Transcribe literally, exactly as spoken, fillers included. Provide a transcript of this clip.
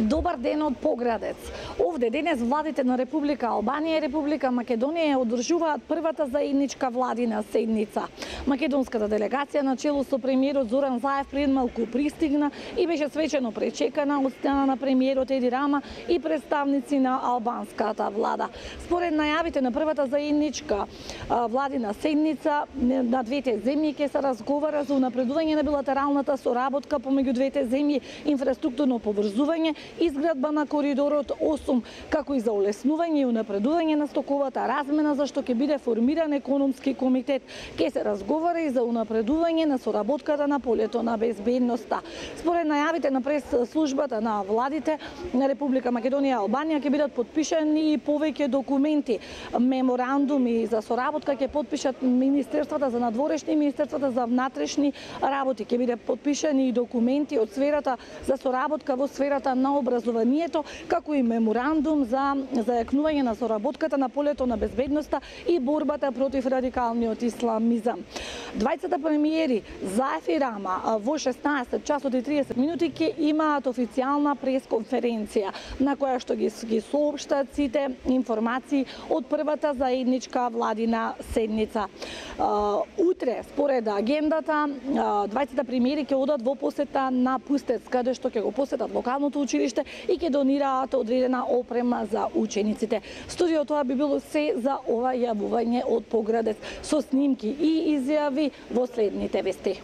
Добар ден од Поградец. Овде денес владите на Република Албанија и Република Македонија одржуваат првата заедничка владина седница. Македонската делегација на чело со премиерот Зоран Заев пред малку пристигна и беше свечено пречекана од страна на премиерот Еди Рама и представници на албанската влада. Според најавите на првата заедничка владина седница на двете земји ќе се разговара за унапредување на билатералната соработка помеѓу двете земји, инфраструктурно поврзување, изградба на коридорот осум, како и за улеснување и унапредување на стоковата размена, за што ќе биде формиран економски комитет. Ќе се разговара и за унапредување на соработката на полето на безбедноста. Според најавите на прес-службата на владите на Република Македонија и Албанија ќе бидат подпишани и повеќе документи. Меморандуми за соработка ќе подпишат Министерствата за надворешни и Министерствата за внатрешни работи. Ќе биде подпишани и документи од сферата за соработка во сферата на образованието, како и меморандум за зајакнување на соработката на полето на безбедноста и борбата против радикалниот исламизам. Двајцата премиери Заев и Рама во шеснаесет часот и триесет минути ќе имаат официјална пресконференција на која што ги, ги соопштат сите информации од првата заедничка владина седница. Утре, според агендата, двајцата премиери ќе одат во посета на Пустец, каде што ќе го посетат локалното училиште и ќе донираат одредена опрема за учениците. Студио, тоа би било се за ова јавување од Поградец со снимки и изјави во следните вести.